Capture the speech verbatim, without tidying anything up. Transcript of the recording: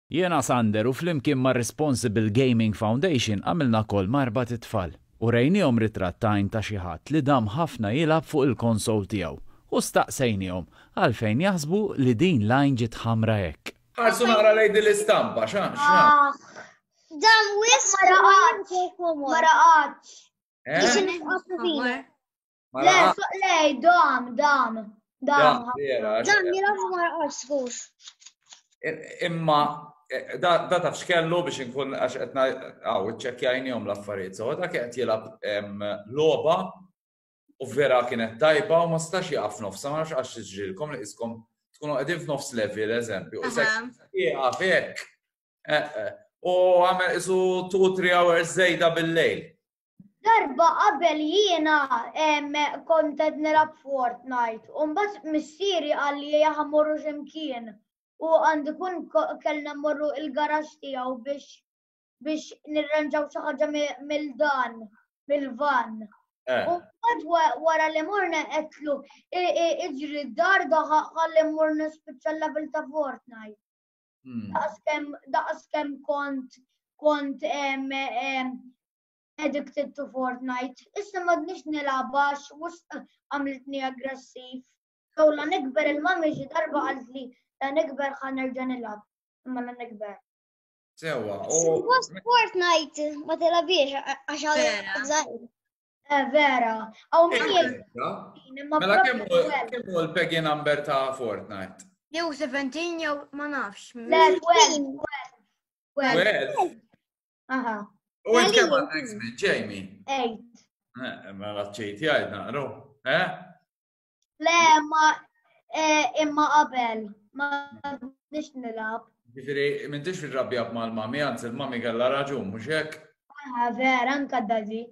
Jiena Sander u flimkien ma' Responsible Gaming Foundation għamilna call ma' erbat itfal u rejnihom ritratt ta' ta' xi ħadd li dam ħafna jilgħab fuq il-konsol tiegħu u staqsejnihom għalfejn jaħsbu li din l-għajn ġiet ħamra hekk. Ħarsu naqra lejn din l-istampa, xa, xa. Ah, Dam wisq Ma raqadx. Ma raqadx. Eh? Ma Le, raqadx. so- le, dam, dam, dam. Da, vera, Dam jilgħab ma raqadx żgur. Imma eh, da da taf x'kellu biex inkun għax qed għaw iċċekkjajnihom l-affarijiet. So dak qed jilgħab em, logħba u vera kienet tajba u ma stax jaqaf f'nofsha, ma nafx għax tiġrilkom li iskom tkunu qegħdin f'nofs level, eżempju. U Aha. jieqaf hekk. Eh, eh. U għamel isu two, three hours żejda bil-lejl. Darba qabel jiena em, kont qed nilgħab Fortnite u mbagħad missieri qal li ħa mmorru x'imkien u għandu kun ko- kellna mmorru il-garaxx tiegħu biex biex nirranġaw xi ħaġa mi- mill-dan, mill-van. Eh. U mbagħad wa- wara li morna għedtlu iġri d-dar da ħalli mmur nispiċċa l-level ta' Fortnite. Hmm. Daqs kemm daqs kemm kont kont em, em, addicted to Fortnite. Issa m'għadniex nilgħabha għax wisq għamlitni aggressiv. So la nikber il-mami xi darba qaltli la nikber ħa nerġa' nilgħab. Imma la nikber. Sewa, u Suppost Fortnite ma tilgħabhiex għax Vera. żgħir. Eh, vera. Aw min jgħid imma Mela kemm propju hu twelve. kemm hu l-PEGI number ta' Fortnite? Jew seventeen jew ma nafx. Le, twelve, twelve. Twelve. Aha, U int kemm Għalija. għandek żmien, Jamie? eight. Eh, Mela ċejt jgħid naqru. Eh? Le, ma eh, imma qabel. Ma nix nilgħab. Ġifieri, m'intix fil-rabja mal-mami, anzi il-mami kellha raġun, mhux hekk? Ah, vera, anka daddy.